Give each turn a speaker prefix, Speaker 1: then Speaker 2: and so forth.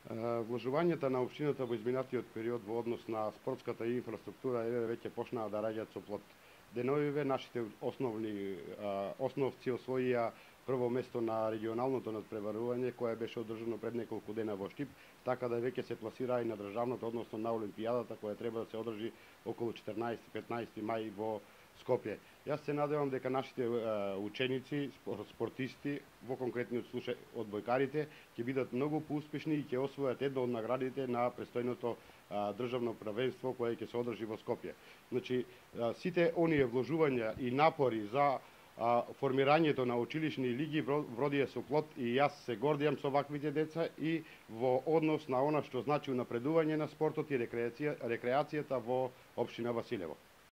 Speaker 1: Вложувањата на општината во изминатиот период во однос на спортската инфраструктура веќе почнаа да раѓаат со плод. Деновиве нашите основци освоија прво место на регионалното надпреварување кое беше одржано пред неколку дена во Штип, така да веќе се пласираа и на државното, односно на Олимпијадата која треба да се одржи околу 14-15 мај во Скопје. Јас се надевам дека нашите ученици, спортисти, во конкретниот случај одбојкарите, ќе бидат многу поуспешни и ќе освојат една од наградите на престојното државно првенство кое ќе се одржи во Скопје. Значи, сите оние вложувања и напори за формирањето на училишни лиги вродија со плод и јас се гордијам со ваквите деца и во однос на она што значи унапредување на спортот и рекреацијата во општина Василево.